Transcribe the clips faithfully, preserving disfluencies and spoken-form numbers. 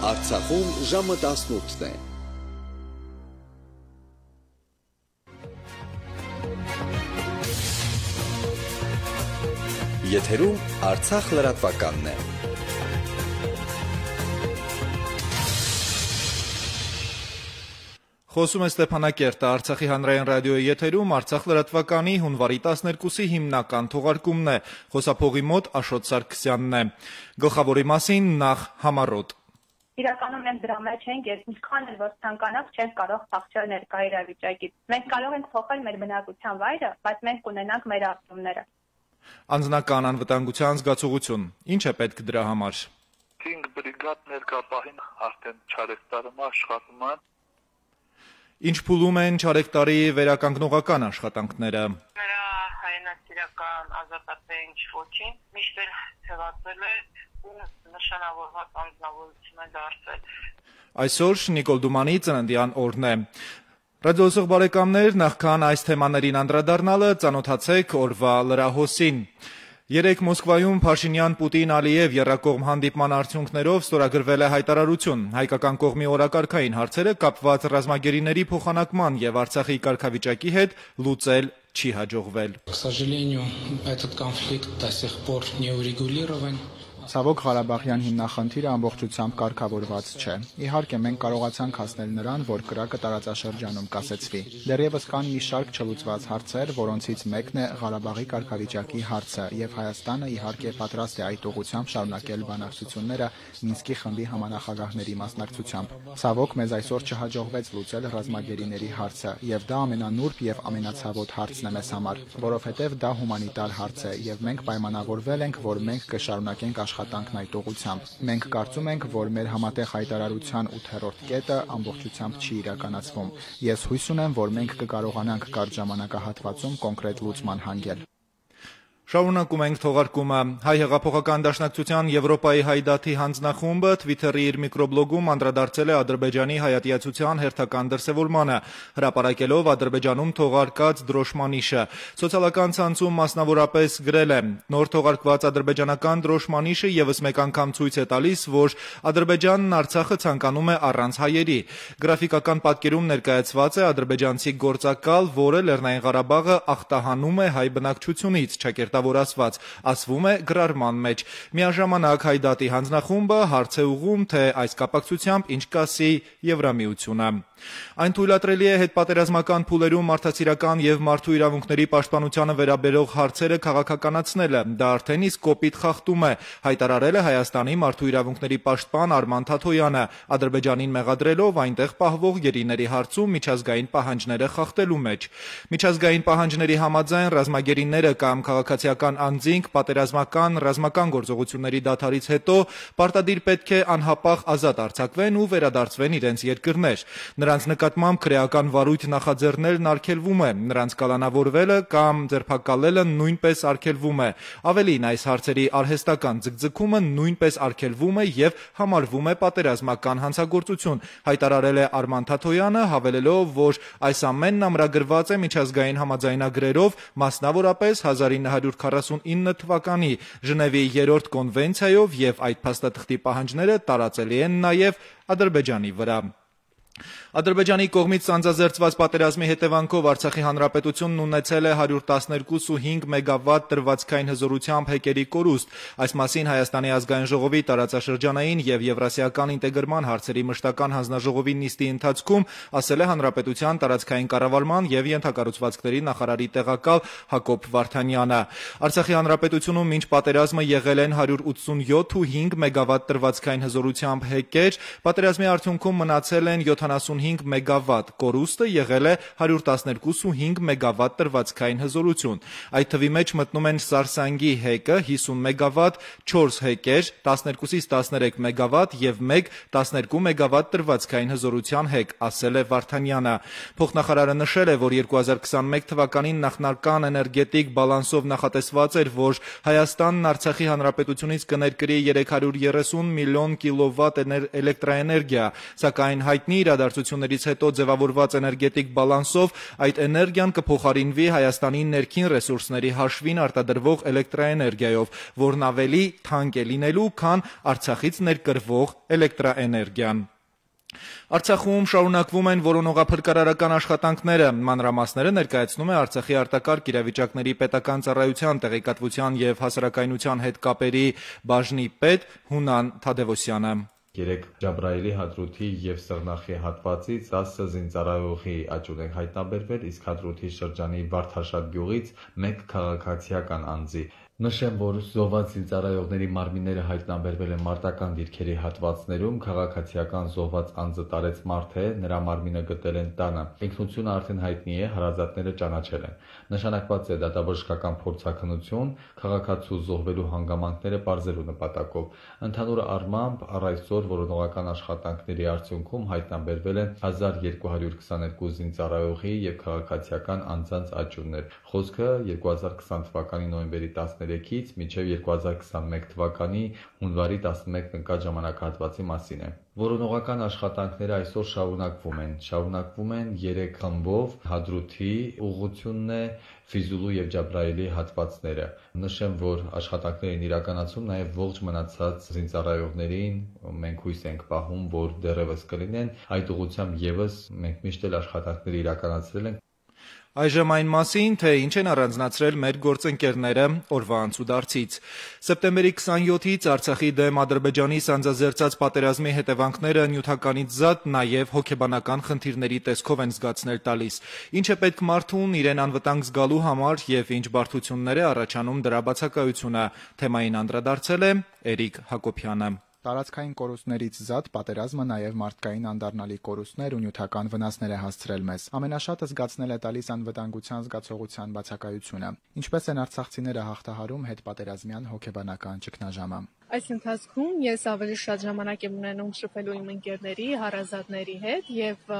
Արցախում ժամը տասնութն է։ Եթերում Արցախ լրատվականն է։ Խոսում է Ստեփանակերտը, Արցախի հանրային ռադիոյի եթերում Արցախ լրատվականի հունվարի տասներկուսի հիմնական թողարկումն է։ Խոսափողի մոտ Աշոտ Սարգսյանն է։ Գլխավորի մասին նախ համառոտ։ Իրականում մենք դրա մեջ ենք, երբ ինչքան էլ որ ցանկանանք, չենք կարող փախչել ներկա իրավիճակից։ Մենք կարող ենք փոխել մեր բնակության վայրը, բայց մենք կունենանք մեր արտոնները։ Անձնական անվտանգության զգացողություն։ Ինչ է պետք դրա համար։ Cinque brigad ներկա պահին արդեն չարեստարում աշխատում են։ Ինչ փուլում են չարեկտարի վերականգնողական աշխատանքները։ Նրա հայրենասիրական ազատատեն ոչինչ միշտ էլ թվացել է ու նշանավորված անձնավորություն է դարձել։ Այսօր Նիկոլ Դումանի ծննդյան օրն է։ Ռադիոսող բարեկամներ, նախքան այս թեմաներին անդրադառնալը ծանոթացեք օրվա լրահոսին։ Երեկ Մոսկվայում Փաշինյան-Պուտին-Ալիև եռակողմ հանդիպման արդյունքներով ստորագրվել է հայտարարություն։ Հայկական կողմի օրակարգային հարցերը կապված ռազմագերիների փոխանակման եւ Արցախի կարգավիճակի հետ լուծել չի հաջողվել։ К сожалению, этот конфликт до сих пор не урегулирован. Ցավոք Ղարաբաղյան հիմնախնդիրը ամբողջությամբ կարգավորված չէ։ Իհարկե մենք կարողացանք հասնել նրան, որ կրակը տարածաշրջանում կասեցվի։ Դեռևս կան մի շարք չլուծված հարցեր, որոնցից մեկն է Ղարաբաղի կարգավիճակի հարցը, եւ Հայաստանը իհարկե պատրաստ է այդ ուղղությամբ շարունակել բանակցությունները Մինսկի խմբի համանախագահների մասնակցությամբ։ Ցավոք մեզ այսօր չհաջողվեց լուծել ռազմագերիների հարցը, եւ դա ամենանուրբ եւ ամենացավոտ հարցն է մեզ համար, որովհետեւ դա հումանիտար հարց է, եւ մենք պայմանավորվել ենք, որ մենք կշարունակենք աշխատանքն այդ ուղղությամբ։ Մենք կարծում ենք, որ մեր համատեղ հայտարարության ութերորդ կետը ամբողջությամբ չի իրականացվում։ Ես հույս ունեմ, որ մենք կկարողանանք կարճ ժամանակահատվածում կոնկրետ լուծման հանգել։ Շարունակում ենք թողարկումը։ Հայ հեղափոխական դաշնակցության Եվրոպայի հայդատի հանձնախումբը Twitter-ի իր միկրոբլոգում անդրադարձել է Ադրբեջանի հայատյացության հերթական դրսևորմանը, հրապարակելով Ադրբեջանում թողարկած դրոշմանիշը։ Սոցիալական ցանցում մասնավորապես գրել է. Նոր թողարկված ադրբեջանական դրոշմանիշը եւս մեկ անգամ ցույց է տալիս, որ Ադրբեջանն Արցախը ցանկանում է առանց հայերի։ Գրաֆիկական պատկերում ներկայացված է ադրբեջանցի գործակալ, որը Լեռնային Ղարաբաղը ախտահանում է հայ բնակչությունից, որ ասված, ասվում է գրառման մեջ։ Միաժամանակ հայդատի հանձնախումբը հարց է ուղղում, թե այս կապակցությամբ ինչ կասի Եվրամիությունը։ Այն թույլատրելի է հետպատերազմական փուլերում մարդասիրական եւ մարդու իրավունքների պաշտպանությանը վերաբերող հարցերը քաղաքականացնելը։ Դա արդեն իսկ կոպիտ խախտում է, հայտարարել է Հայաստանի մարդու իրավունքների պաշտպան Արման Թաթոյանը, Ադրբեջանին մեղադրելով այնտեղ պահվող գերիների հարցում միջազգային պահանջները խախտելու մեջ։ Միջազգային պահանջների համաձայն ռազմագերիները կամ քաղաքացիական անձինք պատերազմական ռազմական գործողությունների դադարից հետո պարտադիր պետք է անհապաղ ազատ արձակվեն ու վերադարձվեն իրենց երկրներ։ Նրանց նկատմամբ քրեական վարույթ նախաձեռնելն արգելվում է, նրանց կալանավորվելը կամ ձերբակալելը նույնպես արգելվում է։ Ավելին, այս հարցերի արհեստական ձգձգումը նույնպես արգելվում է եւ համարվում է պատերազմական հանցագործություն, հայտարարել է Արման Թաթոյանը, հավելելով, որ այս ամենն ամրագրված է միջազգային համաձայնագրերով, մասնավորապես հազար ինը հարյուր քառասունինը թվականի Ժնևի երրորդ կոնվենցիայով եւ այդ փաստաթղթի պահանջները տարածելի են նաեւ Ադրբեջանի վրա։ Ադրբեջանի կողմից ծանձազերծված պատերազմի հետևանքով Արցախի հանրապետությունն ունեցել է հարյուր տասներկու կόμμα հինգ մեգավատ տրվածքային հզորությամբ հեկերի կորուստ։ Այս մասին Հայաստանի ազգային ժողովի տարածաշրջանային եւ եվրասիական ինտեգրման հարցերի մշտական հանձնաժողովի նիստի ընթացքում ասել է հանրապետության տարածքային կառավարման եւ ենթակառուցվածքների նախարարի տեղակալ Հակոբ Վարդանյանը։ Արցախի հանրապետությունում մինչ պատերազմը եղել են հարյուր ութսունյոթ կόμμα հինգ մեգավատ տրվածքային հզորությամբ հեկեր, պատերազմի արդյունքում մնացել են յոթանասունհինգ մեգավատ, կորուստը եղել է հարյուր տասներկու կόμμα հինգ մեգավատ տրվածքային հզորություն։ Այդ թվի մեջ մտնում են Սարսանգի հեկը հիսուն մեգավատ, չորս հեկեր, տասներկուից տասներեք մեգավատ եւ մեկ տասներկու մեգավատ տրվածքային հզորության հեկ, ասել է Վարդանյանը։ Փոխնախարարը նշել է, որ երկու հազար քսանմեկ թվականին նախնական էներգետիկ բալանսով նախատեսված էր, որ Հայաստանն Արցախի հանրապետությունից կներկրի երեք հարյուր երեսուն միլիոն կիլովատ էլեկտրաէներգիա, սակայն հայտնի իրադարձություններից հետո ձևավորված էներգետիկ բալանսով այդ էներգիան կփոխարինվի Հայաստանի ներքին ռեսուրսների հաշվին արտադրվող էլեկտրաէներգիայով, որն ավելի թանկ է լինելու, քան Արցախից ներկրվող էլեկտրաէներգիան։ Արցախում շարունակվում են որոնողափրկարարական աշխատանքները։ Մանրամասները ներկայացնում է Արցախի արտակարգ իրավիճակների պետական ծառայության տեղեկատվության եւ հասարակայնության հետ կապերի բաժնի պետ Հունան Թադևոսյանը։ Երեք Ջաբրայելի հադրութի եւ Սղնախի հատվածից տասը զինծառայողի աճուն են հայտնաբերվել, իսկ հադրութի շրջանի Վարդաշատ գյուղից մեկ քաղաքացիական անձի։ Նշեմ, որ զոհված զինծառայողների մարմինները հայտնաբերվել են մարտական դիրքերի հատվածներում, քաղաքացիական զոհված անձը տարեց մարդ է, նրա մարմինը գտել են տանը։ Ինքնությունը արդեն հայտնի է, հարազատները ճանաչել են։ Նշանակված է դատաբժշկական փորձաքննություն, քաղաքացու զոհվելու հանգամանքները պարզելու նպատակով։ Ընդհանուր առմամբ առ այսօր որոնողական աշխատանքների արդյունքում հայտնաբերվել են հազար երկու հարյուր քսաներկու զինծառայողի եւ քաղաքացիական անձանց աճուրներ։ Խոսքը երկու հազար քսան թվականի նոյեմբերի տասներեքից մինչև երկու հազար քսանմեկ թվականի հունվարի տասնմեկն ընկած ժամանակահատվածի մասին է։ Որոնողական աշխատանքները այսօր շարունակվում են։ Շարունակվում են երեք խմբով հադրութի ուղղությունն է Ֆիզուլու եւ Ջաբրայելի հատվածները։ Նշեմ, որ աշխատանքներին իրականացում նաեւ ողջ մնացած զինծառայողներին մենք հույս ենք պահում, որ դեռևս կլինեն։ Այդ ուղղությամբ եւս մենք միշտ էլ աշխատանքներ իրականացրել ենք։ Այժմ այն մասին, թե ինչ են առանձնացրել մեր գործընկերները օրվա անցուդարձից։ Սեպտեմբերի քսանյոթից Արցախի դեմ Ադրբեջանի սանձազերծած պատերազմի հետևանքները նյութականից զատ նաև հոգեբանական խնդիրների տեսքով են զգացնել տալիս։ Ինչ է պետք մարդուն իրեն անվտանգ զգալու համար եւ ինչ բարդություններ է առաջանում դրա բացակայությունը։ Թեմային անդրադարձել է Էրիկ Հակոբյանը։ Տարածքային կորուստներից զատ պատերազմը նաև մարդկային անդառնալի կորուստներ ու նյութական վնասներ է հասցրել մեզ։ Ամենաշատը զգացնել է տալիս անվտանգության զգացողության բացակայությունը։ Ինչպես են արցախցիները հաղթահարում հետպատերազմյան հոգեբանական ճգնաժամը։ Այս ընթացքում ես ավելի շատ ժամանակ եմ ունենում շփվելու իմ ընկերների, հարազատների հետ եւ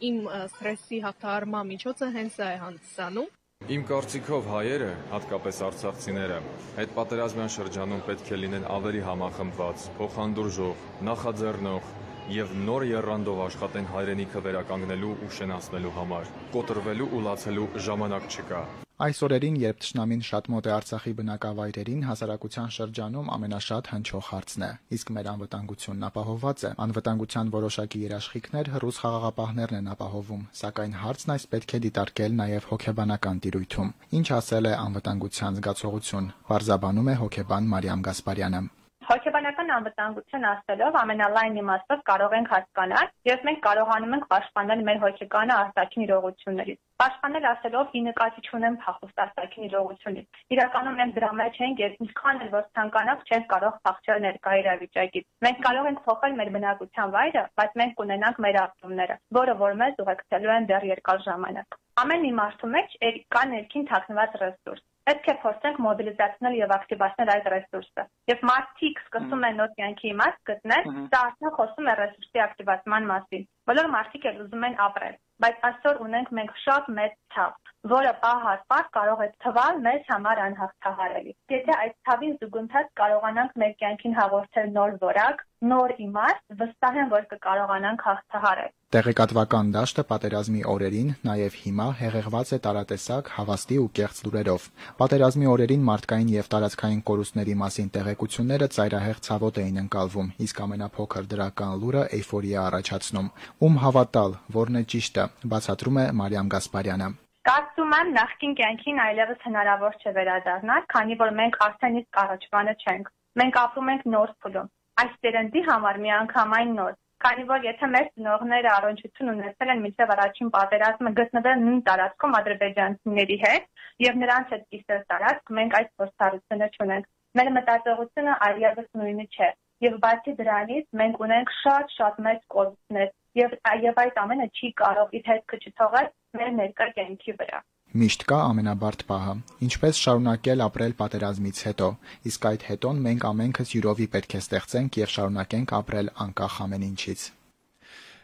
իմ սթրեսի հաղթահարման միջոցը հենց դա է հանդիսանում։ Իմ կարծիքով հայերը, հատկապես արցախցիները, հետպատերազմյան շրջանում պետք է լինեն ավելի համախմբված, փոխանդուրժող, նախաձեռնող եւ նոր եռանդով աշխատեն հայրենիքը վերականգնելու ու շենացնելու համար։ Կոտրվելու ու լացելու ժամանակ չկա։ Այս օրերին, երբ թշնամին շատ մոտ է Արցախի բնակավայրերին, հասարակության շրջանում ամենաշատ հնչող հարցն է, իսկ մեր անվտանգությունն ապահովված է։ Անվտանգության որոշակի երաշխիքներ հռոս խաղաղապահներն են ապահովում, սակայն հարցն այս պետք է դիտարկել նաև հոգեբանական տիրույթում։ Ինչ ասել է անվտանգության զգացողություն, բարձաբանում է հոգեբան Մարիամ Գասպարյանը։ Հոգեբանական անվտանգություն ասելով ամենալայն իմաստով կարող ենք հասկանալ, եւ մենք կարողանում ենք պաշտպանել մեր հոգեկանը արտաքին իրողություններից։ Պաշտպանել ասելով ի նկատի չունեմ փախուստ արտաքին իրողությունից։ Իրականում մենք դրա մեջ ենք եւ ինչքան էլ որ ցանկանանք չենք կարող փախչել ներկա իրավիճակից։ Մենք կարող ենք փոխել մեր բնակության վայրը, բայց մենք կունենանք մեր ապրումները, որը որ մեզ ուղեկցելու են դեռ երկար ժամանակ։ Ամեն մի մարդու մեջ կա ներքին թաքնված ռեսուրս։ Պետք է փորձենք մոբիլիզացնել եւ ակտիվացնել այդ ռեսուրսը։ Եվ մարդիկ սկսում են նոր կյանքի իմաստ գտնել, դա արդեն խոսում է ռեսուրսի ակտիվացման մասին։ Բոլոր մարդիկ էլ ուզում են ապրել, բայց այսօր ունենք մենք շատ մեծ ցավ, որը պահ առ պահ կարող է թվալ մեզ համար անհաղթահարելի։ Եթե այդ ցավին զուգընթաց կարողանանք մեր կյանքին հաղորդել նոր որակ, նոր իմաստ, վստահ եմ, որ կկարողանանք հաղթահարել։ Տեղեկատվական դաշտը պատերազմի օրերին, նաև հիմա հեղեղված է տարատեսակ, հավաստի ու կեղծ լուրերով։ Պատերազմի օրերին մարդկային եւ տարածքային կորուստների մասին տեղեկությունները ծայրահեղ ցավոտ էին ընկալվում, իսկ ամենափոքր դրական լուրը էյֆորիա առաջացնում։ Ում հավատալ, որն է ճիշտը, բացատրում է Մարիամ Գասպարյանը։ Կարծում եմ նախկին կյանքին այլևս հնարավոր չէ վերադառնալ, քանի որ մենք արդեն իսկ առաջվանը չենք։ Մենք ապրում ենք նոր փուլում։ Այս ծերնդի համար միանգամայն նոր, քանի որ եթե մեր ծնողները առողջություն ունեցել են մինչև առաջին պատերազմը գտնվել նույն տարածքում ադրբեջանցիների հետ եւ նրանց հետ կիսել տարածք, մենք այդ փորձառությունը չունենք։ Մեր մտածողությունը այլևս նույնը չէ։ Եվ բացի դրանից մենք ունենք շատ-շատ մեծ կորուստներ եւ եւ այդ ամենը չի կարող իր հետքը չթողել մեր ներկա կյանքի վրա։ Միշտ կա ամենաբարդ պահը, ինչպես շարունակել ապրել պատերազմից հետո, իսկ այդ հետոն մենք ամենքս յուրովի պետք է ստեղծենք եւ շարունակենք ապրել անկախ ամեն ինչից։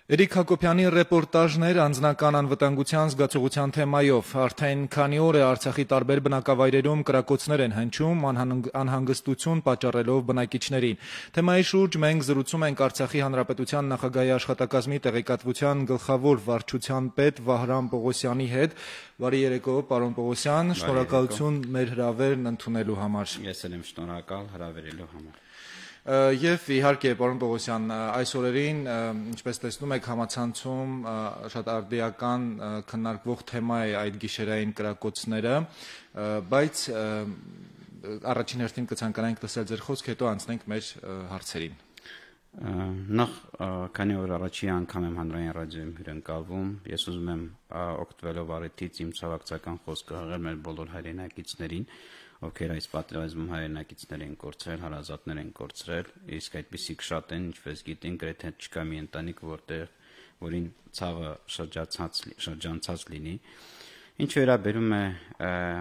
Էրիկ Հակոբյանի ռեպորտաժներ անձնական անվտանգության զգացողության թեմայով։ Արդեն քանի օր է Արցախի տարբեր բնակավայրերում կրակոցներ են հնչում, անհանգստություն պատճառելով բնակիչներին։ Թեմայի շուրջ մենք զրուցում ենք Արցախի Հանրապետության նախագահի աշխատակազմի տեղեկատվության գլխավոր վարչության պետ Վահրամ Պողոսյանի հետ։ Բարի երեկո, պարոն Պողոսյան, շնորհակալություն մեր հրավերն ընդունելու համար։ Ես էլ եմ շնորհակալ հրավերելու համար։ Եվ իհարկե, պարոն Պողոսյան, այս օրերին, ինչպես տեսնում եք, համացանցում շատ արդիական քննարկվող թեմա է այդ գիշերային կրակոցները, բայց առաջին հերթին կցանկանանք լսել ձեր խոսք, հետո անցնենք մեր հարցերին։ Նախ քանի որ առաջի անգամ եմ հանրային ռադիոյում հյուրընկալվում, ես ուզում եմ օգտվելով առիթից իմ ցավակցական խոսքը հղել մեր բոլոր հայրենակիցներին, ովքեր այս պատերազմում հայրենակիցներ են կորցրել, հարազատներ են կորցրել, իսկ այդպիսիք շատ են, ինչպես գիտենք, գրեթե չկա մի ընտանիք, որտեղ որին ցավը շրջանցած լինի։ Ինչ վերաբերում է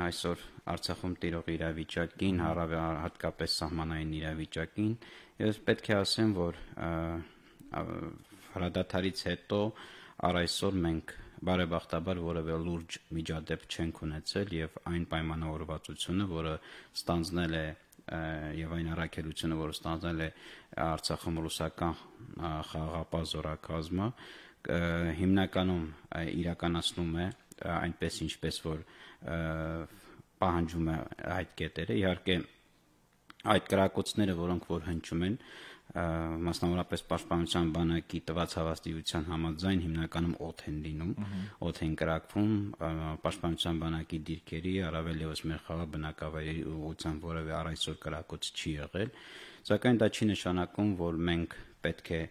այսօր Արցախում տիրող իրավիճակին, հատկապես սահմանային իրավիճակին, ես պետք է ասեմ, որ հրադադարից հետո առ այսօր մենք բարեբախտաբար որևէ լուրջ միջադեպ չենք ունեցել եւ այն պայմանավորվածությունը, որը ստանձնել է եւ այն առաքելությունը, որը ստանձնել է Արցախում ռուսական խաղաղապահ զորակազմը, հիմնականում իրականացնում է այնպես ինչպես որ պահանջում է այդ կետերը։ Իհարկե այդ կրակոցները, որոնք որ հնչում են, մասնավորապես պաշտպանության բանակի տված հավաստիության համաձայն հիմնականում օդ են լինում, օդ են կրակվում պաշտպանության բանակի դիրքերի, առավել ևս մեր խաղաղ բնակավայրերի ուղղությամբ որևէ առ այսօր կրակոց չի եղել, սակայն դա չի նշանակում, որ մենք պետք է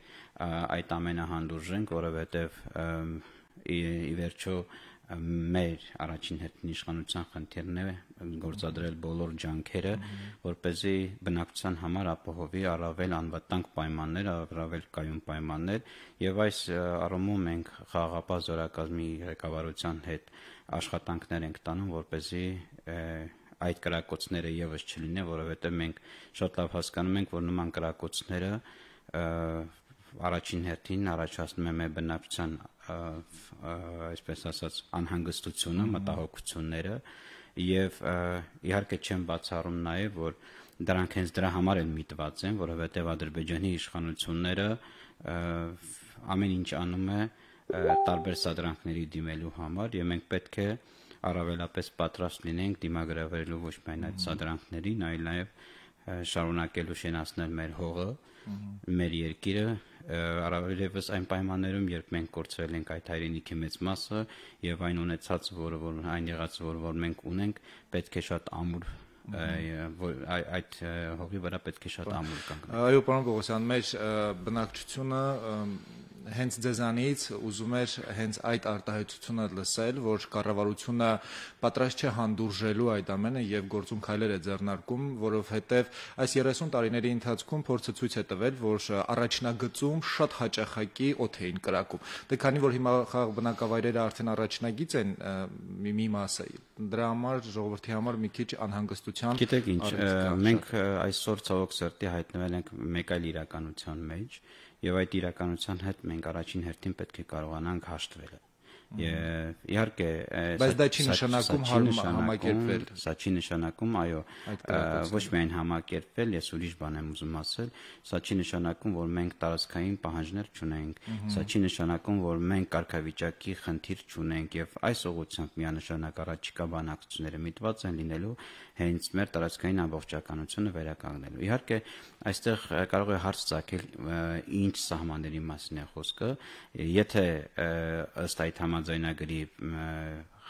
այդ ամենը հանդուրժենք, որովհետև ի վերջո մեր առաջին հերթին իշխանության խնդիրն է գործադրել բոլոր ջանքերը, որպեսզի բնակչության համար ապահովի առավել անվտանգ պայմաններ, առավել կայուն պայմաններ, եւ այս առումով մենք խաղաղապահ զորակազմի ղեկավարության հետ աշխատանքներ ենք տանում, որպեսզի այդ կրակոցները եւս չլինեն, որովհետեւ մենք շատ լավ հասկանում ենք, որ նման կրակոցները առաջին հերթին առաջացնում է մեր բնակչության այսպես ասած անհանգստությունը, մտահոգությունները եւ իհարկե չեմ բացառում նաեւ, որ դրանք հենց դրա համար են միտված են, որովհետեւ Ադրբեջանի իշխանությունները ամեն ինչ անում է տարբեր սադրանքների դիմելու համար եւ մենք պետք է առավելապես պատրաստ լինենք դիմագրավելու ոչ միայն այդ սադրանքներին, այլ նաեւ շարունակելու շենացնել մեր հողը, մեր երկիրը, առավել ևս այն պայմաններում, երբ մենք կորցրել ենք այդ հայրենիքի մեծ մասը եւ այն ունեցած, որը որ այն եղած, որ որ մենք ունենք, պետք է շատ ամուր այդ հողի վրա պետք է շատ ամուր կանգնենք։ Այո, պարոն Պողոսյան, մեր բնակչությունը հենց ձեզանից ուզում էր հենց այդ արտահայտությունը լսել, որ կառավարությունը պատրաստ չէ հանդուրժելու այդ ամենը եւ գործում քայլեր է ձեռնարկում, որովհետեւ այս երեսուն տարիների ընթացքում փորձը ցույց է տվել, որ առաջնագծում շատ հաճախակի օդ էին կրակում։ Դե քանի որ հիմա խաղաղ բնակավայրերը արդեն առաջնագիծ են մի մասը, դրա համար ժողովրդի համար մի քիչ անհանգստության։ Գիտեք ինչ, մենք այսօր ցավոք սրտի հայտնվել ենք մեկ այլ իրականության մեջ եւ այդ իրականության հետ մենք առաջին հերթին պետք է կարողանանք հաշտվել։ Իհարկե, բայց դա չի նշանակում համակերպվել։ Սա չի նշանակում, այո, ոչ միայն համակերպվել, ես ուրիշ բան եմ ուզում ասել, սա չի նշանակում, որ մենք տարածքային պահանջներ չունենք, սա չի նշանակում, որ մենք կարգավիճակի խնդիր չունենք եւ այս ուղղությամբ միանշանակ առաջիկա բանակցությունները միտված են լինելու հենց մեր տարածքային ամբողջականությունը վերականգնելու։ Իհարկե, այստեղ կարող է հարց ծագել ինչ սահմանների մասին է խոսքը, եթե ըստ այդ համաձայնագրի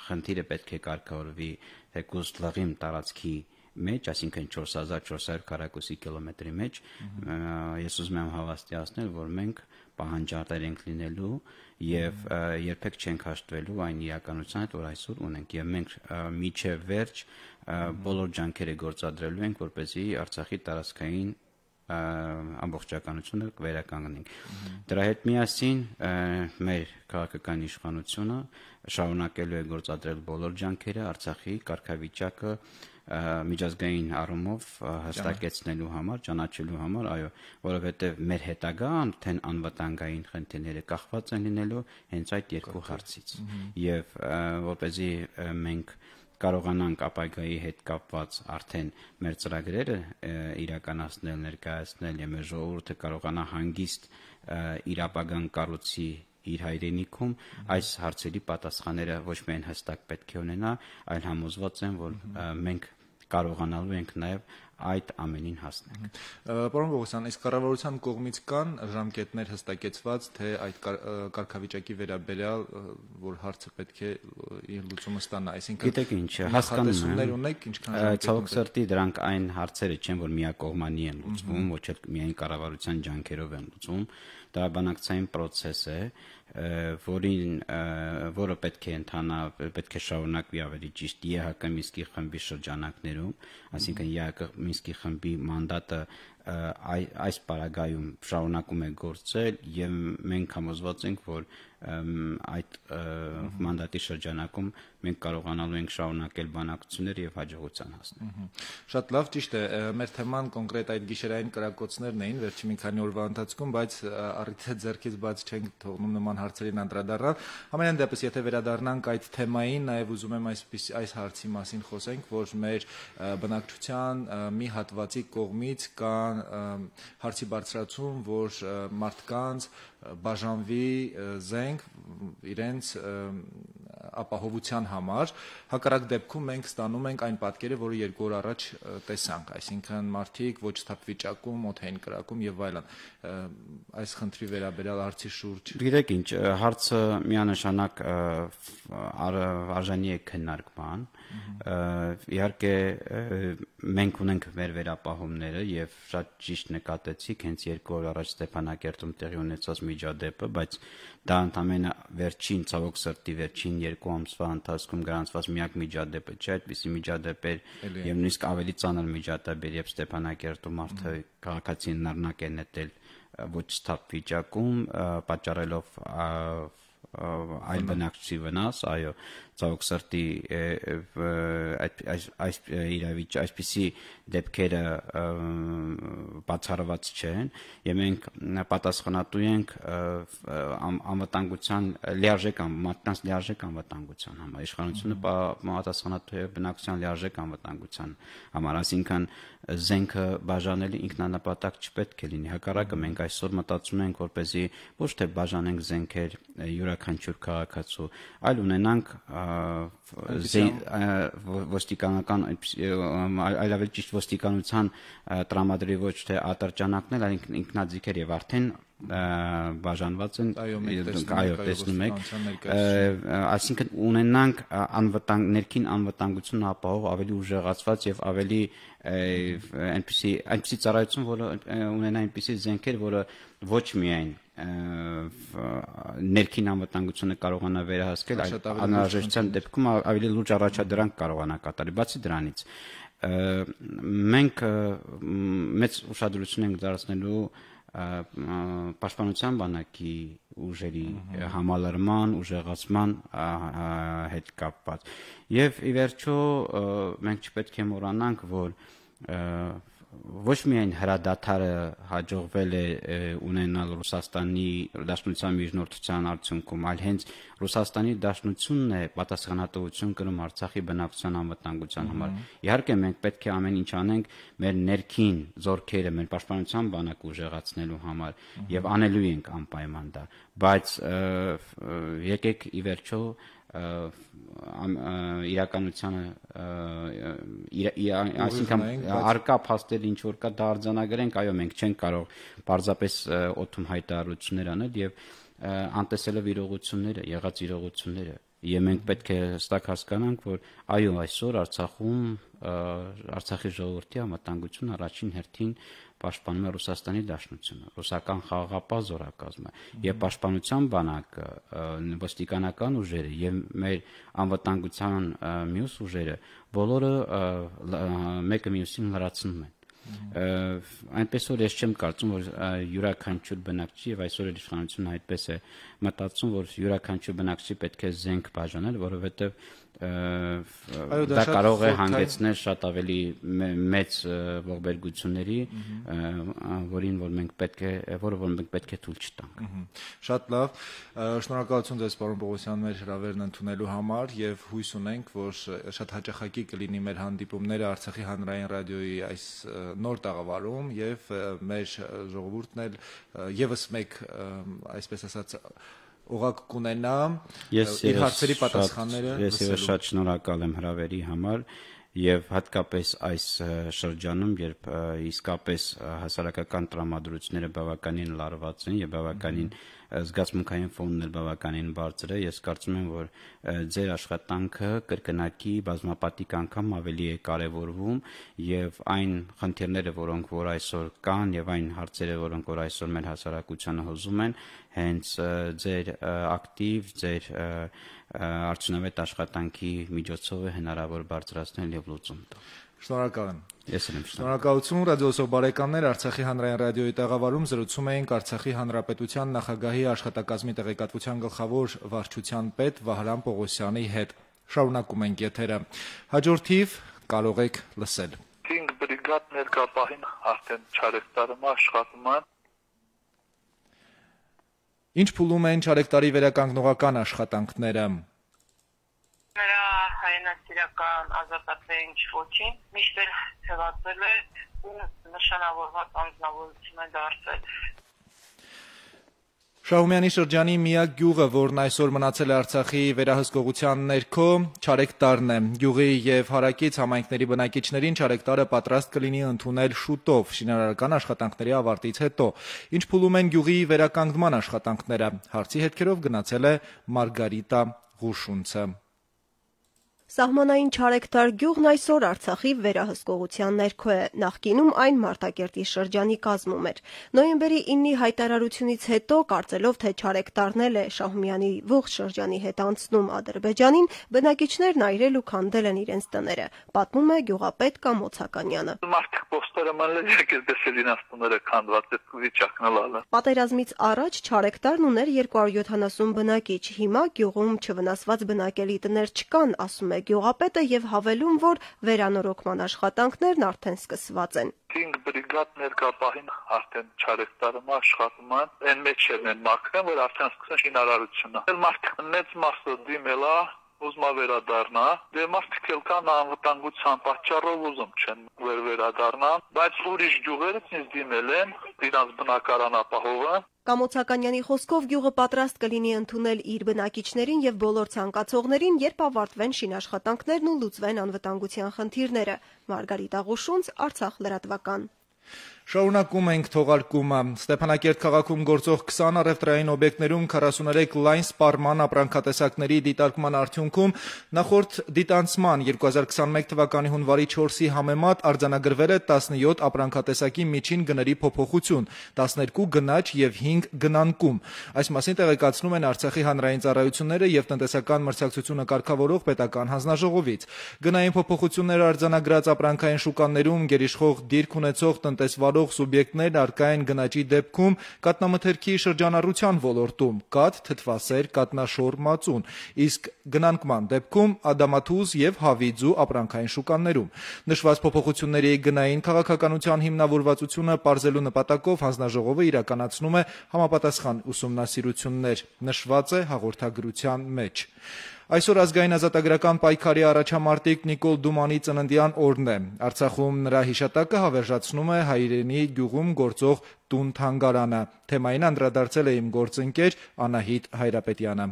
խնդիրը պետք է կարգավորվի թեկուզ լղիմ տարածքի մեջ, այսինքն չորս հազար չորս հարյուր քառակուսի կիլոմետրի մեջ, ես ուզում եմ հավաստիացնել, որ մենք պահանջատեր ենք լինելու եւ երբեք չենք հաշտվելու այն իրականության հետ, որ այսօր ունենք եւ մենք միջև վերջ բոլոր ջանքերը գործադրելու ենք, որպեսզի Արցախի տարածքային ամբողջականությունը վերականգնենք։ Դրա հետ միասին մեր քաղաքական իշխանությունը շարունակելու է գործադրել բոլոր ջանքերը Արցախի կարգավիճակը միջազգային առումով հստակեցնելու համար, ճանաչելու համար, այո, որովհետև մեր հետագա արդեն անվտանգային խնդիրները կախված են լինելու հենց այդ երկու հարցից։ Եվ որպեսզի մենք կարողանանք ապագայի հետ կապված արդեն մեր ծրագրերը իրականացնել, ներկայացնել եւ մեր ժողովուրդը կարողանա հանգիստ իր ապագան կառուցի իր հայրենիքում, այս հարցերի պատասխանները ոչ միայն հստակ պետք է ունենա, այլ համոզված եմ, որ մենք կարողանալու ենք նաև այդ ամենին հասնենք։ Պարոն Պողոսյան, իսկ կառավարության կողմից կան ժամկետներ հստակեցված, թե այդ կարգավիճակի վերաբերյալ, որ հարցը պետք է իր լուծումը ստանա, այսինքն գիտեք ինչ, հասկանում եմ, ունեք, ինչքան ժամկետ ցավոք սրտի դրանք այն հարցերը չեն, որ միակողմանի են լուծվում, ոչ էլ միայն կառավարության ջանքերով են լուծվում, դա բանակցային process է, որին որը պետք է ընթանա, պետք է շարունակվի ավելի ճիշտ ԵՀԿ Մինսկի խմբի շրջանակներում, այսինքն ԵՀԿ Մինսկի խմբի մանդատը այս պարագայում շարունակում է գործել եւ մենք համոզված ենք, որ այդ մանդատի շրջանակում մենք կարողանալու ենք շարունակել բանակցությունները եւ հաջողության հասնել։ Շատ լավ, ճիշտ է, մեր թեման կոնկրետ այդ գիշերային կրակոցներն էին վերջի մի քանի օրվա ընթացքում, բայց առիթը ձեռքից բաց չենք թողնում նման հարցերին անդրադառնալ։ Համենայն դեպս, եթե վերադառնանք այդ թեմային, նաեւ ուզում եմ այսպես այս հարցի մասին խոսենք, որ մեր բնակչության մի հատվածի կողմից կան հարցի բարձրացում, որ մարդկանց բաժանվի զենք իրենց ապահովության համար, հակառակ դեպքում մենք ստանում ենք այն պատկերը, որը երկու օր առաջ տեսանք, այսինքն մարդիկ ոչ սթափ վիճակում, օդային կրակում եւ այլն։ Այս խնդրի վերաբերյալ հարցի շուրջ։ Գիտեք ինչ, հարցը միանշանակ արժանի է քննարկման։ Իհարկե մենք ունենք մեր վերապահումները եւ շատ ճիշտ նկատեցիք հենց երկու օր առաջ Ստեփանակերտում տեղի ունեցած միջադեպը, բայց դա ընդամենը վերջին ցավոք սրտի վերջին երկու ամսվա ընթացքում գրանցված միակ միջադեպը չէ, այդպիսի միջադեպեր եւ նույնիսկ ավելի ծանր միջադեպեր, երբ Ստեփանակերտում մարդը քաղաքացին նռնակ է նետել ոչ սթափ վիճակում, պատճառելով այլ բնակչի վնաս, այո, ցավոք սրտի այս իրավիճ այսպիսի դեպքերը բացառված չեն եւ մենք պատասխանատու ենք անվտանգության լիարժեք մարդկանց լիարժեք անվտանգության համար, իշխանությունը պատասխանատու է բնակչության լիարժեք անվտանգության համար, այսինքն զենքը բաժանելի ինքնանպատակ չպետք է լինի, հակառակը մենք այսօր մտածում ենք, որպեսզի ոչ թե բաժանենք զենքեր յուրաքանչյուր քաղաքացու, այլ ունենանք ոստիկանական այլ ավելի ճիշտ ոստիկանության տրամադրի ոչ թե ատրճանակներ, այլ ինքնաձիգեր եւ արդեն բաժանված են, այո, տեսնում եք, այսինքն ունենանք անվտանգ ներքին անվտանգություն ապահով ավելի ուժեղացված եւ ավելի այնպիսի այնպիսի ծառայություն, որը ունենա այնպիսի զենքեր, որը ոչ միայն ներքին անվտանգությունը կարողանա վերահսկել, այլ անհրաժեշտության դեպքում ավելի լուրջ առաջադրանք կարողանա կատարել։ Բացի դրանից, մենք մեծ ուշադրություն ենք դարձնելու պաշտպանության բանակի ուժերի համալրման, ուժեղացման հետ կապված։ Եվ ի վերջո մենք չպետք է մոռանանք, որ ոչ միայն հրադադարը հաջողվել է ունենալ Ռուսաստանի Դաշնության միջնորդության արդյունքում, այլ հենց Ռուսաստանի Դաշնությունն է պատասխանատվություն կրում Արցախի բնակչության անվտանգության համար։ Իհարկե մենք պետք է ամեն ինչ անենք մեր ներքին զորքերը, մեր պաշտպանության բանակը ուժեղացնելու համար եւ անելու ենք անպայման դա, բայց եկեք ի վերջո իրականությանը այսինքն արկա փաստեր ինչ որ կա դա արձանագրենք, այո, մենք չենք կարող պարզապես օդում հայտարարություններ անել եւ անտեսելով իրողությունները, եղած իրողությունները, եւ մենք պետք է հստակ հասկանանք, որ այո, այսօր Արցախում Արցախի ժողովրդի անվտանգությունը առաջին հերթին պաշտպանում է Ռուսաստանի Դաշնությունը, ռուսական խաղաղապահ զորակազմը եւ պաշտպանության բանակը, ոստիկանական ուժերը եւ մեր անվտանգության մյուս ուժերը, բոլորը մեկը մյուսին լրացնում են։ Այնպես որ ես չեմ կարծում, որ յուրաքանչյուր բնակչի եւ այսօր էլ իշխանությունը այդպես է մտածում, որ յուրաքանչյուր բնակչի պետք է զենք բաժանել, որովհետեւ դա կարող է հանգեցնել շատ ավելի մեծ ողբերգությունների, որին որ մենք պետք է, որը որ մենք պետք է թույլ չտանք։ Շատ լավ, շնորհակալություն ձեզ պարոն Պողոսյան մեր հրավերն ընդունելու համար եւ հույս ունենք, որ շատ հաճախակի կլինի մեր հանդիպումները Արցախի հանրային ռադիոյի այս նոր տաղավարում եւ մեր ժողովուրդն էլ եւս մեկ, այսպես ասած, ուղղակ կունենա իր հարցերի պատասխանները լսելու։ Ես եւս շատ շնորհակալ եմ հրավերի համար եւ հատկապես այս շրջանում, երբ իսկապես հասարակական տրամադրությունները բավականին լարված են եւ բավականին զգացմունքային ֆոնն էլ բավականին բարձր է, ես կարծում եմ, որ ձեր աշխատանքը կրկնակի բազմապատիկ անգամ ավելի է կարևորվում եւ այն խնդիրները, որոնք որ այսօր կան եւ այն հարցերը, որոնք որ այսօր մեր հասարակությանը հոզում են, հենց ձեր ակտիվ, ձեր արդյունավետ աշխատանքի միջոցով է հնարավոր բարձրացնել եւ լուծում տալ։ Շնորհակալ եմ։ Ես եմ շնորհակալություն ռադիոսով բարեկամներ, Արցախի հանրային ռադիոյի տաղավարում զրուցում էինք Արցախի հանրապետության նախագահի աշխատակազմի տեղեկատվության գլխավոր վարչության պետ Վահրամ Պողոսյանի հետ։ Շարունակում ենք եթերը։ Հաջորդիվ կարող եք լսել։ Cinque brigad ներկապահին արդեն չարեկտարում աշխատում են։ Ինչ փուլում են չարեկտարի վերականգնողական աշխատանքները։ Նրա հայրենասիրական ազատատվային ոչին միշտ էլ թվացել է ու նշանավորված անձնավորություն է դարձել։ Շահումյանի շրջանի միակ գյուղը, որն այսօր մնացել է Արցախի վերահսկողության ներքո, Չարեկտարն է։ Գյուղի եւ հարակից համայնքների բնակիչներին Չարեկտարը պատրաստ կլինի ընդունել շուտով շինարարական աշխատանքների ավարտից հետո։ Ինչ փուլում են գյուղի վերականգնման աշխատանքները։ Հարցի հետքերով գնացել է Մարգարիտա Ղուշունցը։ Սահմանային Չարեկտար գյուղն այսօր Արցախի վերահսկողության ներքո է, նախկինում այն Մարտակերտի շրջանի կազմում էր։ Նոյեմբերի իննի հայտարարությունից հետո, կարծելով թե Չարեկտարն էլ է Շահումյանի ողջ շրջանի հետ անցնում Ադրբեջանին, բնակիչներն այրել ու քանդել են իրենց տները, պատմում է գյուղապետ Կամոց Հականյանը։ Մարդիկ պոստերը մանել եկել դեսել իրենց տները քանդված այդ վիճակն ալը։ Պատերազմից առաջ Չարեկտարն ուներ երկու հարյուր յոթանասուն բնակիչ, հիմա գյուղում չվնասված բնակելի տներ չկան, ասում է գյուղապետը եւ հավելում, որ վերանորոգման աշխատանքներն արդեն սկսված են։ Cinque brigad ներկապահին արդեն Չարեկտարում աշխատում են, այն մեջ են մաքրեն, որ արդեն սկսեն շինարարությունը։ Մարդիկ մեծ մասը դիմել է ուզում վերադառնա, դե մարդիկ էլ կան անվտանգության պատճառով ուզում չեն վեր վերադառնա, բայց ուրիշ գյուղերից ինձ դիմել են, իրանց բնակարան ապահովը։ Կամոց Հականյանի խոսքով գյուղը պատրաստ կլինի ընդունել իր բնակիչներին եւ բոլոր ցանկացողներին, երբ ավարտվեն շինաշխատանքներն ու լուծվեն անվտանգության խնդիրները։ Մարգարիտա Ղուշունց, Արցախ լրատվական։ Շարունակում ենք թողարկումը։ Ստեփանակերտ քաղաքում գործող քսան առևտրային օբյեկտներում քառասուներեք լայն սպառման ապրանքատեսակների դիտարկման արդյունքում նախորդ դիտանցման երկու հազար քսանմեկ թվականի հունվարի չորսի համեմատ արձանագրվել է տասնյոթ ապրանքատեսակի միջին գների փոփոխություն, տասներկու գնաճ եւ հինգ գնանկում։ Այս մասին տեղեկացնում են Արցախի հանրային ծառայությունները եւ տնտեսական մրցակցությունը կարգավորող պետական հանձնաժողովից։ Գնային փոփոխությունները արձանագրած ապրանքային շուկաներում գերիշխող դիրք ունեցող տնտեսվար սուբյեկտներ առկա են գնաճի դեպքում կատնամթերքի շրջանառության ոլորտում, կաթ, թթվասեր, կատնաշոր, մածուն, իսկ գնանկման դեպքում ադամաթուզ եւ հավիձու ապրանքային շուկաներում։ Նշված փոփոխությունների գնային քաղաքականության հիմնավորվածությունը պարզելու նպատակով հանձնաժողովը իրականացնում է համապատասխան ուսումնասիրություններ, նշված է հաղորդագրության մեջ։ Այսօր ազգային ազատագրական պայքարի առաջամարտիկ Նիկոլ Դումանի ծննդյան օրն է։ Արցախում նրա հիշատակը հավերժացնում է հայրենի գյուղում գործող տուն թանգարանը։ Թեմային անդրադարձել է իմ գործընկեր Անահիտ Հայրապետյանը։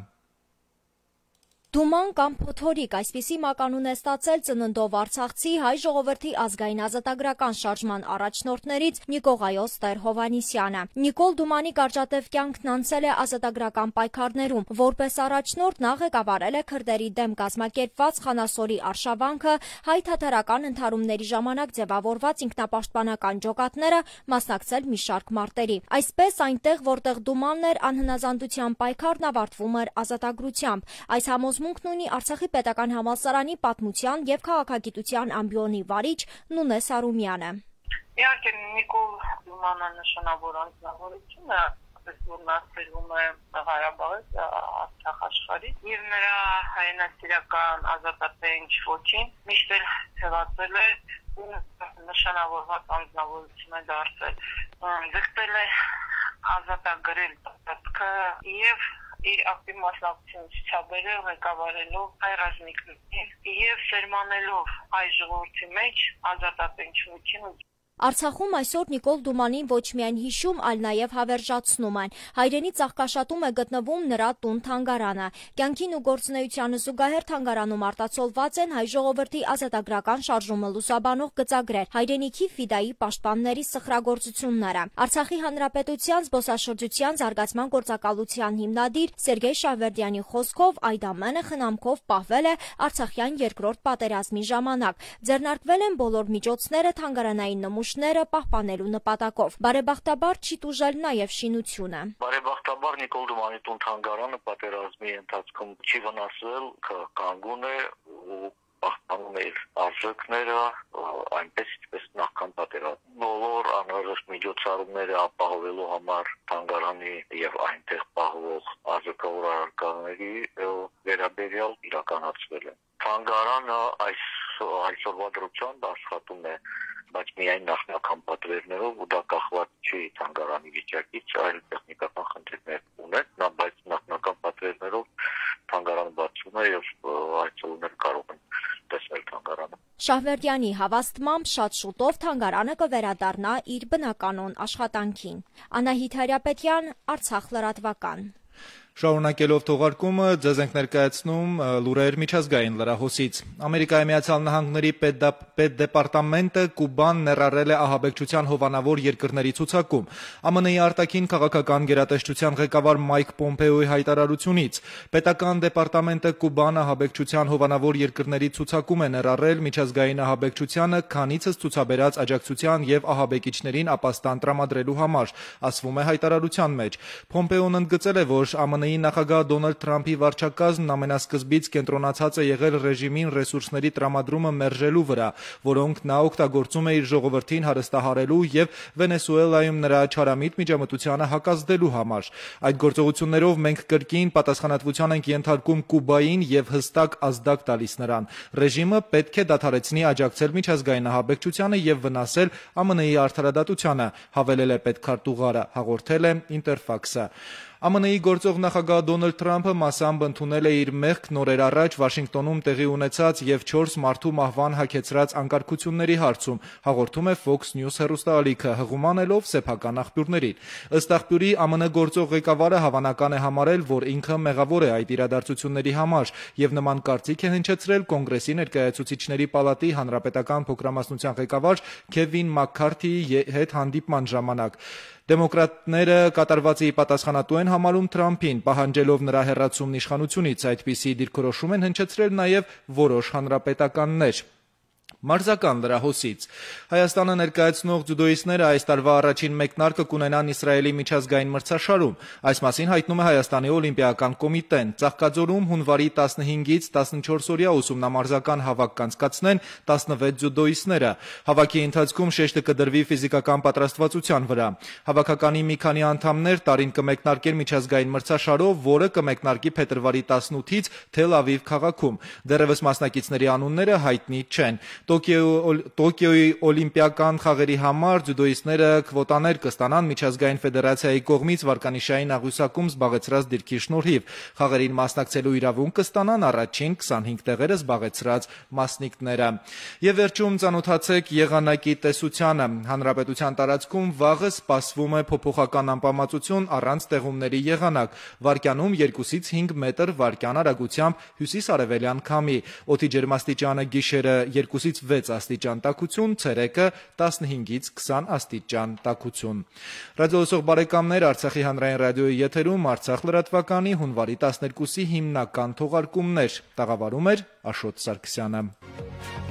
Դուման կամ փոթորիկ, այսպիսի մականուն է ստացել ծննդով Արցախցի հայ ժողովրդի ազգային ազատագրական շարժման առաջնորդներից Նիկողայոս Տեր-Հովհաննիսյանը։ Նիկոլ Դումանի կարճատև կյանքն անցել է ազատագրական պայքարներում, որպես առաջնորդ նա ղեկավարել է քրդերի դեմ կազմակերպված Խանասորի արշավանքը, հայ-թաթարական ընդհարումների ժամանակ ձևավորված ինքնապաշտպանական ջոկատները, մասնակցել մի շարք մարտերի։ Այսպես այնտեղ, որտեղ Դումանն էր, անհնազանդության պայքարն ավարտվում էր ազատագրությամբ։ Այս համոզմունքն ունի Արցախի պետական համալսարանի պատմության եւ քաղաքագիտության ամբիոնի վարիչ Նունե Սարումյանը։ Իհարկե Նիկոլ Դումանը նշանավոր անձնավորություն է, որ մասերում է Ղարաբաղից, Արցախ աշխարհից, եւ նրա հայրենասիրական ազատատենչ ոչին միշտ էլ թվացել է նշանավորված անձնավորություն է դարձել, ձգտել է ազատագրել տարածքը եւ իր ակտիվ մասնակցություն ցուցաբերել ղեկավարելով հայ ռազմիկներին եւ սերմանելով հայ ժողովրդի մեջ ազատատենչություն։ Արցախում այսօր Նիկոլ Դումանին ոչ միայն հիշում, այլ նաև հավերժացնում են։ Հայրենի ծաղկաշատում է գտնվում նրա տուն-թանգարանը։ Կյանքին ու գործունեությանը զուգահեռ թանգարանում արտացոլված են հայ ժողովրդի ազատագրական շարժումը լուսաբանող գծագրեր, հայրենիքի ֆիդայի պաշտպանների սխրագործությունները։ Արցախի հանրապետության զբոսաշրջության զարգացման գործակալության հիմնադիր Սերգեյ Շավերդյանի խոսքով այդ ամենը խնամքով պահվել է Արցախյան երկրորդ պատերազմի ժամանակ։ Ձեռնարկվել են բոլոր միջոցները թանգարանային նմուշ պահպանելու նպատակով։ Բարեբախտաբար չի տուժել նաև շինությունը։ Բարեբախտաբար Նիկոլ Դումանի տուն-թանգարանը պատերազմի ընթացքում չի վնասվել, կանգուն է ու պահպանում է իր արժեքները, այնպես ինչպես նախքան պատերազմում։ Բոլոր անհրաժեշտ միջոցառումները ապահովելու համար թանգարանի եւ այնտեղ պահվող արժեքավոր առարկաների վերաբերյալ իրականացվել է։ Թանգարանը այս այսօրվա դրությամբ աշխատում է, բայց միայն նախնական պատվերներով ու դա կախված չի թանգարանի վիճակից, այլ տեխնիկական խնդիրներ ունեն, նա բայց նախնական պատվերներով թանգարանը բացվում է եւ այցելուներ կարող են տեսնել թանգարանը։ Շահվերդյանի հավաստմամբ շատ շուտով թանգարանը կվերադառնա իր բնականոն աշխատանքին։ Անահիտ Հարապետյան, Արցախ լրատվական։ Շարունակելով թողարկումը ձեզ ենք ներկայացնում լուրեր միջազգային լրահոսից։ Ամերիկայի Միացյալ Նահանգների պետդեպարտամենտը Կուբան ներառել է ահաբեկչության հովանավոր երկրների ցուցակում։ ԱՄՆ-ի արտաքին քաղաքական գերատեսչության ղեկավար Մայք Պոմպեոյի հայտարարությունից պետական դեպարտամենտը Կուբան ահաբեկչության հովանավոր երկրների ցուցակում է ներառել միջազգային ահաբեկչությանը քանիցս ցուցաբերած աջակցության եւ ահաբեկիչներին ապաստան տրամադրելու համար, ասվում է հայտարարության մեջ։ Պոմպեոն ընդգծել է, որ ԱՄՆ-ի նախագահ Դոնալդ Թրամփի վարչակազմն ամենասկզբից կենտրոնացած է եղել ռեժիմին ռեսուրսների տրամադրումը մերժելու վրա, որոնք նա օգտագործում է իր ժողովրդին հարստահարելու եւ Վենեսուելայում նրա չարամիտ միջամտությանը հակազդելու համար։ Այդ գործողություններով մենք կրկին պատասխանատվության ենք ենթարկում Կուբային եւ հստակ ազդակ տալիս նրան։ Ռեժիմը պետք է դադարեցնի աջակցել միջազգային ահաբեկչությանը եւ վնասել ԱՄՆ-ի արդարադատությանը, հավելել է պետքարտուղարը, հաղորդել է Ինտերֆաքսը։ ԱՄՆ-ի գործող նախագահ Դոնալդ Թրամփը մասամբ ընդունել է իր մեղքն օրեր առաջ Վաշինգտոնում տեղի ունեցած եւ չորս մարդու մահվան հագեցրած անկարգությունների հարցում, հաղորդում է Fox News հեռուստաալիքը, հղումանելով սեփական աղբյուրներին։ Ըստ աղբյուրի ԱՄՆ գործող ղեկավարը հավանական է համարել, որ ինքը մեղավոր է այդ իրադարձությունների համար եւ նման կարծիք է հնչեցրել Կոնգրեսի ներկայացուցիչների պալատի հանրապետական փոքրամասնության ղեկավար Քևին Մաքքարթիի հետ հանդիպման ժամանակ։ Դեմոկրատները կատարվածի պատասխանատու են համարում Թրամփին, պահանջելով նրա հեռացումն իշխանությունից, այդպիսի դիրքորոշում են հնչեցրել նաև որոշ հանրապետականներ։ Մարզական լրահոսից Հայաստանը ներկայացնող ձյուդոիստները այս տարվա առաջին մեկնարկը կունենան Իսրայելի միջազգային մրցաշարում։ Այս մասին հայտնում է Հայաստանի օլիմպիական կոմիտեն։ Ծաղկաձորում հունվարի տասնհինգից տասնչորսօրյա ուսումնամարզական հավաք կանցկացնեն տասնվեց ձյուդոիստները։ Հավաքի ընթացքում շեշտը կդրվի ֆիզիկական պատրաստվածության վրա։ Հավաքականի մի քանի անդամներ տարին կմեկնարկեն միջազգային մրցաշարով, որը կմեկնարկի փետրվարի տասնութից Թել Ավիվ քաղաքում։ Դեռևս մասնակիցների անունները հայտնի չեն։ Տոկիոյի օլիմպիական խաղերի համար ձյուդոիստները քվոտաներ կստանան միջազգային ֆեդերացիայի կողմից վարկանիշային աղյուսակում զբաղեցրած դիրքի շնորհիվ։ Խաղերին մասնակցելու իրավունք կստանան առաջին քսանհինգ տեղերը զբաղեցրած մասնիկները։ Եվ վերջում ծանոթացեք եղանակի տեսությանը։ Հանրապետության տարածքում վաղը սպասվում է փոփոխական անպամացություն առանց տեղումների եղանակ։ Վարկյանում երկուսից հինգ մետր վարկյան արագությամբ հյուսիս-արևելյան քամի։ Օդի ջերմաստիճանը գիշերը երկուսից վեց աստիճան տաքություն, ցերեկը տասնհինգից քսան աստիճան տաքություն։ Ռադիոլսող բարեկամներ, Արցախի հանրային ռադիոյի եթերում Արցախ լրատվականի հունվարի տասներկուսի հիմնական թողարկումներ։ Տաղավարում էր Աշոտ Սարգսյանը։